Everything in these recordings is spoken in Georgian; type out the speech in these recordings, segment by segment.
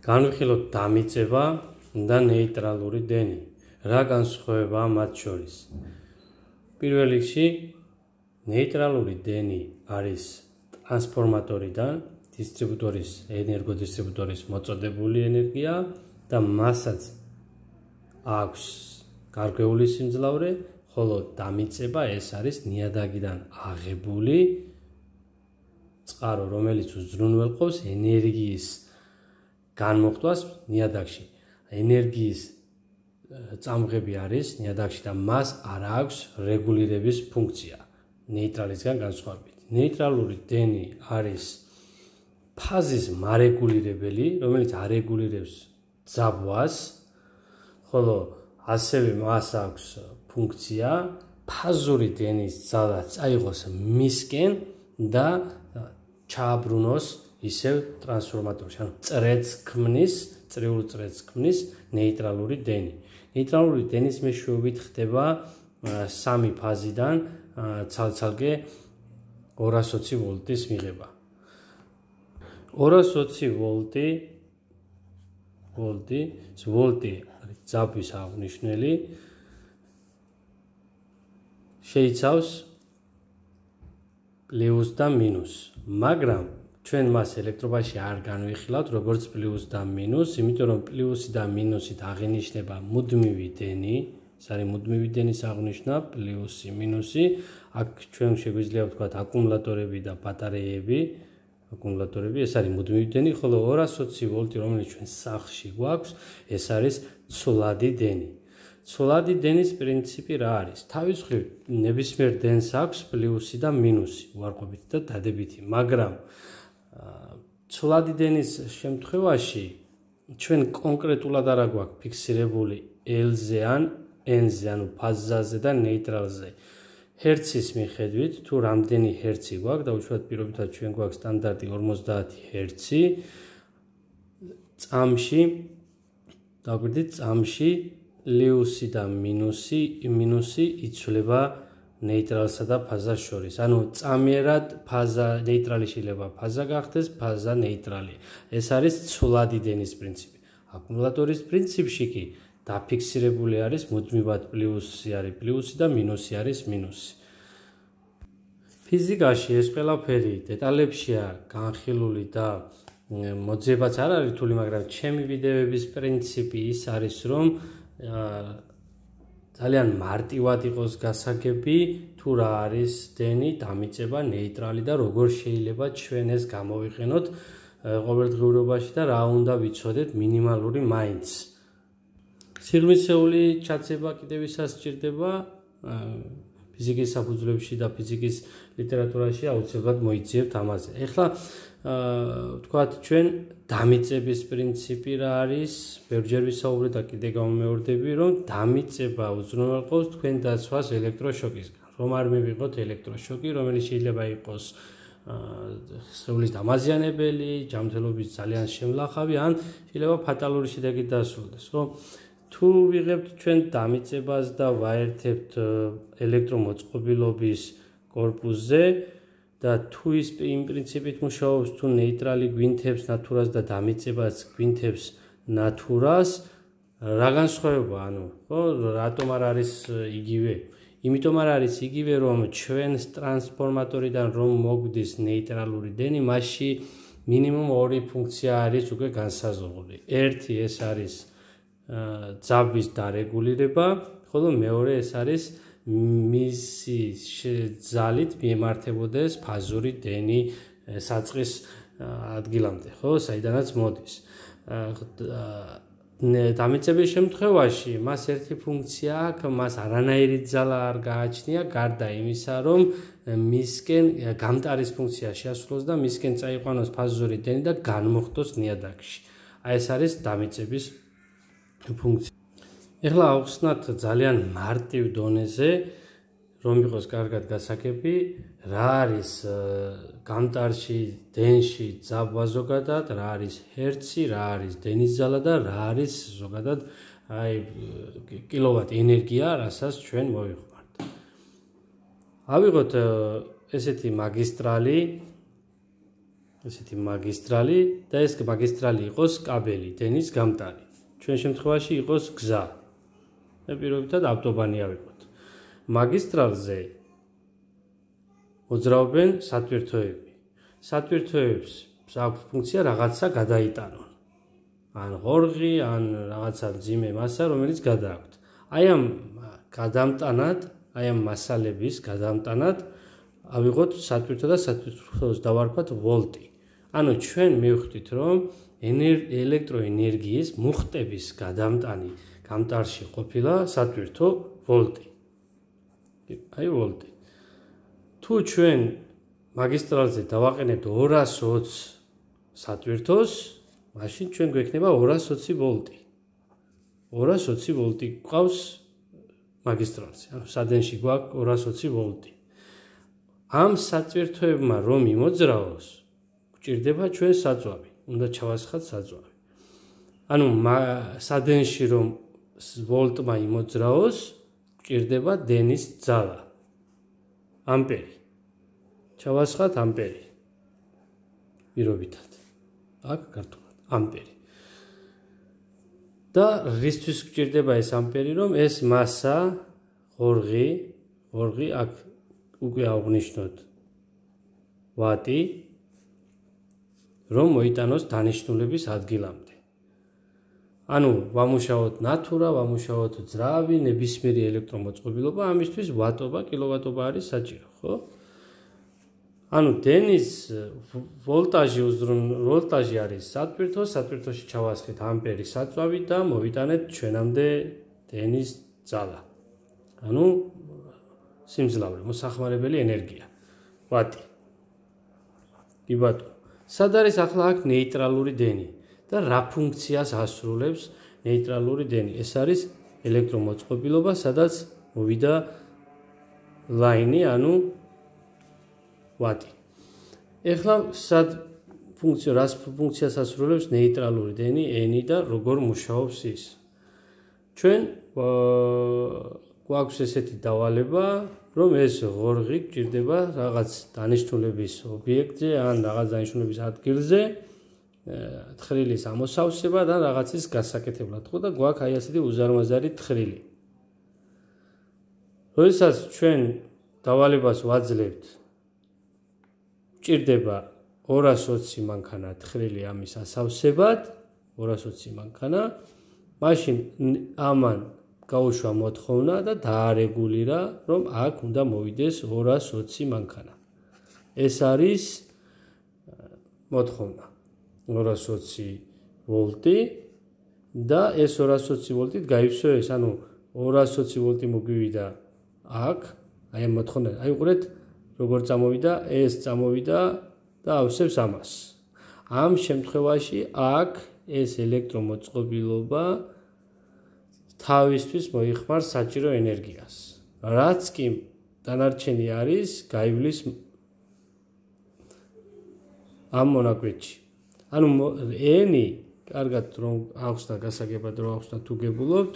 განვიხილოთ დამიწება და ნეიტრალური დენი. რა განსხვავებაა მათ შორის? პირველ რიგში ნეიტრალური დენი არის ტრანსფორმატორიდან დისტრიბუტორის ენერგოდისტრიბუტორის მოწოდებული ენერგია და მასაც აქვს გარკვეული სიმძლავრე, ხოლო დამიწება ეს არის ნიადაგიდან აღებული წყარო, რომელიც უზრუნველყოფს ენერგიის განმოხტვას ნიადაგში. ენერგიის წამღები არის ნიადაგში და მას არ აქვს რეგულირების ფუნქცია ნეიტრალისგან განსხვავებით. ნეიტრალური დენი არის ფაზის მარეგულირებელი, რომელიც არეგულირებს ძაბვას, ხოლო ასევე მას აქვს ფუნქცია ფაზური დენის ძალა წაიღოს მისკენ და ჩააბრუნოს ისევ ტრანსფორმატორში, ანუ წრეც ქმნის, წრიულ წრეც ქმნის ნეიტრალური დენი. ნეიტრალური დენის მეშვეობით ხდება სამი ფაზიდან ცალ-ცალკე 220 ვოლტის მიღება. 220 ვოლტი არის ძაბვის აღნიშნელი, შეიცავს პლუს და მინუს, მაგრამ ჩვენ მას ელექტრობაში არ განვიხილავთ როგორც პლუს და მინუს, იმიტომ რომ პლუსი და მინუსით აღინიშნება მუდმივი დენი, ეს არის მუდმივი დენის აღნიშვნა, პლუსი, მინუსი, აქ ჩვენ შეგვიძლია ვთქვათ აკუმულატორები და ბატარეები, ეს არის მუდმივი დენი, ხოლო 220 ვოლტი, რომელიც ჩვენ სახლში გვაქვს, ეს არის ცვლადი დენი. ცვლადი დენის პრინციპი რა არის? თავის მხრივ ნებისმიერ დენს აქვს პლუსი და მინუსი, უარყოფითი და დადებითი, მაგრამ ცვლადი დენის შემთხვევაში ჩვენ კონკრეტულად არა გვაქვს ფიქსირებული L-ზე ან N-ზე, ანუ ფაზაზე და ნეიტრალზე. ჰერცის მიხედვით, თუ რამდენი ჰერცი გვაქვს, დაუშვათ პირობითად ჩვენ გვაქვს სტანდარტი 50 ჰერცი, წამში პლუსი და მინუსი იცვლება ნეიტრალსა და ფაზას შორის. ანუ წამიერად ფაზა ნეიტრალი შეიძლება ფაზა გახდეს, ფაზა ნეიტრალი. ეს არის ცვლადი დენის პრინციპი. აკუმულატორის პრინციპში კი დაფიქსირებული არის მუდმივად პლუსი არის პლუსი და მინუსი არის მინუსი. ფიზიკაში ეს ყველაფერი დეტალებშია განხილული და მოძიებაც არ არის რთული, მაგრამ ჩემი ვიდეოების პრინციპი ის არის, რომ ძალიან მარტივად იყოს გასაგები, თუ რა არის დენი, დამიწება, ნეიტრალი და როგორ შეიძლება ჩვენ ეს გამოვიყენოთ ყოველდღიურობაში და რა უნდა ვიცოდეთ მინიმალური მაინც. სიღრმისეული ჩაცება კიდევ ისაც სჭირდება ფიზიკის საფუძვლებში და ფიზიკის ლიტერატურაში აუცილებლად მოიძიებთ ამაზე. ეხლა ვთქვათ ჩვენ დამიწების პრინციპი რა არის? ბევრჯერ ვისაუბრეთ და კიდე გამომეორდები, რომ დამიწება უზრუნველყოფს თქვენ დაცვას ელექტროშოკისგან. რომ არ მივიღოთ ელექტროშოკი, რომელიც შეიძლება იყოს სხეულის დამაზიანებელი, ჯანმრთელობის ძალიან შემლახავი, ან შეიძლება ფატალური შედეგით დასრულდეს, ხო? თუ ვიღებთ ჩვენ დამიწებას და ვაერთებთ ელექტრომოწყობილობის კორპუსზე და თუ ის იმ პრინციპით მუშაობს, თუ ნეიტრალი გვინთებს ნათურას და დამიწებას გვინთებს ნათურას, რა განსხვავება, ანუ, ხო, რატომ არ არის იგივე? იმიტომ არ არის იგივე, რომ ჩვენს ტრანსფორმატორიდან რომ მოგვდის ნეიტრალური დენი, მასში მინიმუმ ორი ფუნქცია არის უკვე განსაზღვრული. ერთი ეს არის ძაბვის დარეგულირება, ხოლო მეორე ეს არის მისი ძალით მიემართებოდეს ფაზური დენი საწყის ადგილამდე, ხო, საიდანაც მოდის. დამიწების შემთხვევაში მას ერთი ფუნქცია აქვს, მას არანაირი ძალა არ გააჩნია, გარდა იმისა, რომ მისკენ გამტარის ფუნქცია შეასრულოს და მისკენ წაიყვანოს ფაზური დენი და განმოხტოს ნიადაგში. აი ეს არის დამიწების ფუნქცია. ეხლა ავხსნათ ძალიან მარტივ დონეზე, რომ იყოს კარგად გასაგები, რა არის გამტარში, დენში ძაბვა ზოგადად, რა არის ჰერცი, რა არის დენის ძალა და რა არის ზოგადად კილოვატ ენერგია, რასაც ჩვენ მოვიხმართ. ავიღოთ ესეთი მაგისტრალი ესეთი მაგისტრალი და ეს მაგისტრალი იყოს კაბელი, დენის გამტარი. ჩვენ შემთხვევაში იყოს გზა. მე პირობითად ავტობანი ავიღოთ. მაგისტრალზე მოძრაობენ სატვირთოები. სატვირთოებს აქვს ფუნქცია რაღაცა გადაიტანონ. ან ღორღი, ან რაღაცა მძიმე მასა, რომელიც გადააქვთ. აი ამ გადამტანად, აი ამ მასალების გადამტანად ავიღოთ სატვირთო და სატვირთოს დავარქვათ ვოლტი. ანუ ჩვენ მივხვდით, რომ ელექტროენერგიის მუხტების გადამტანი გამტარში ყოფილა სატვირთო ვოლტი. აი ვოლტი. თუ ჩვენ მაგისტრალზე დავაყენებთ 220 სატვირთოს, მაშინ ჩვენ გვექნება 220 ვოლტი. 220 ვოლტი გვყავს მაგისტრალზე. ანუ სადენში გვაქვს 220 ვოლტი. ამ სატვირთოებმა რომ იმოძრაოს, გვჭირდება ჩვენ საწვავი. უნდა ჩავასხათ საწვავი. ანუ სადენში რომ ვოლტმა იმოძრაოს, გვჭირდება დენის ძალა. ამპერი. ჩავასხათ ამპერი. პირობითად. აქ ქართულად ამპერი. და რისთვის გვჭირდება ეს ამპერი, რომ ეს მასა ღორღი აქ უკვე აღნიშნოთ ვატი, რომ მოიტანოს დანიშნულების ადგილამდე. ანუ ვამუშაოთ ნათურა, ვამუშაოთ ძრავი, ნებისმიერი ელექტრომოწყობილობა, ამისთვის ვატობა, კილოვატობა არის საჭირო, ხო? ანუ დენის ვოლტაჟი არის სატვირთო, სატვირთოში ჩავასხეთ ამპერი საწვავი და მოვიტანეთ ჩვენამდე დენის ძალა. ანუ სიმძლავრე, მოსახმარებელი ენერგია. ვატი. კი ბატონო. სად არის ახლა აქ ნეიტრალური დენი და რა ფუნქციას ასრულებს ნეიტრალური დენი? ეს არის ელექტრომოწყობილობა, სადაც მოვიდა ლაინი, ანუ ვატი. ეხლა სად რას ფუნქციას ასრულებს ნეიტრალური დენი, ენი და როგორ მუშაობს ის? ჩვენ გვაქვს ესეთი დავალება, რომ ეს ღორღი გვჭირდება რაღაც დანიშნულების ობიექტზე ან რაღაც დანიშნულების ადგილზე, თხრილის ამოსავსება და რაღაცის გასაკეთებლად, ხო და გვაქვს აი ასეთი უზარმაზარი თხრილი. როდესაც ჩვენ დავალებას ვაძლევთ, გვჭირდება 220 მანქანა თხრილი ამის ასავსებად, 220 მანქანა, მაშინ ამან გაუშვა მოთხოვნა და დაარეგულირა, რომ აქ უნდა მოვიდეს 220 მანქანა. ეს არის მოთხოვნა. 220 ვოლტი და ეს 220 ვოლტით გაივსო ეს, ანუ 220 ვოლტი მოგვივიდა აქ, აი ამ მოთხოვნა. აი უყურეთ, როგორ წამოვიდა, ეს წამოვიდა და ავსებს ამას. ამ შემთხვევაში აქ ეს ელექტრომოწყობილობა თავისთვის მოიხმარს საჭირო ენერგიას. რაც კი დანარჩენი არის, გაივლის ამ მონაკვეთში. ანუ ენი, კარგად რომ ახსნა გასაგებად რომ ახსნა თუ გებულობთ,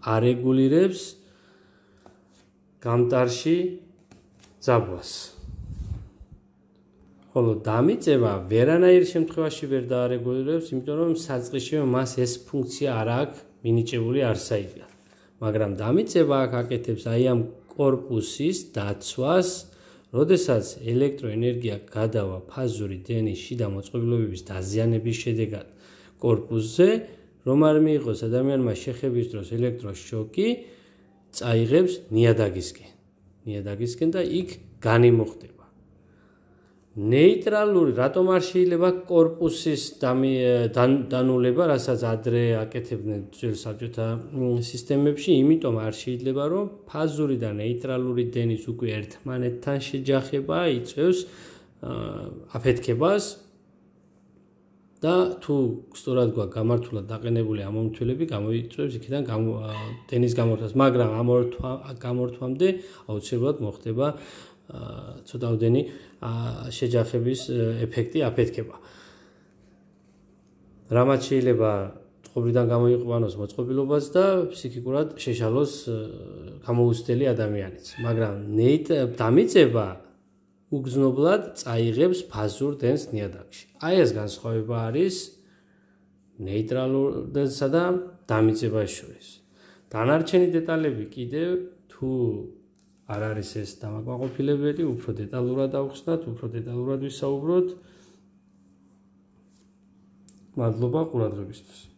არეგულირებს გამტარში ძაბვას. ხოლო დამიწევა ვერანაირ შემთხვევაში ვერ დაარეგულირებს, იმიტომ რომ საწყისშივე მას ეს ფუნქცია არ აქვს მინიჭებული არსაიდან. მაგრამ დამიწევა აქ აკეთებს აი ამ კორპუსის დაცვას, როდესაც ელექტროენერგია გადავა ფაზური დენის შიდა მოწყობილობების დაზიანების შედეგად კორპუსზე, რომ არ მიიღოს ადამიანმა შეხების დროს ელექტროშოკი, წაიღებს ნიადაგისკენ და იქ განიმოხდება. ნეიტრალური, რატომ არ შეიძლება კორპუსის დანულება, რასაც ადრე აკეთებდნენ ძველ საბჭოთა სისტემებში, იმიტომ არ შეიძლება, რომ ფაზური და ნეიტრალური დენის უკვე ერთმანეთთან შეჯახება იწვევს აფეთქებას და თუ სწორად გვაქვს გამართულად დაყენებული ამომრთველები, გამოიწვევს იქიდან დენის გამორთვას, მაგრამ ამ გამორთვამდე აუცილებლად მოხდება ცოტაოდენი შეჯახების ეფექტი აფეთქება. რამაც შეიძლება წყობრიდან გამოიყვანოს მოწყობილობას და ფსიქიკურად შეშალოს გამოუცდელი ადამიანიც. მაგრამ დამიწება უგზნობლად წაიღებს ფაზურ დენს ნიადაგში. აი ეს განსხვავება არის ნეიტრალურსა და დამიწებას შორის. დანარჩენი დეტალები კიდევ თუ არ არის ეს დამაკმაყოფილებელი, უფრო დეტალურად ავხსნათ, უფრო დეტალურად ვისაუბროთ. მადლობა ყურადღებისთვის.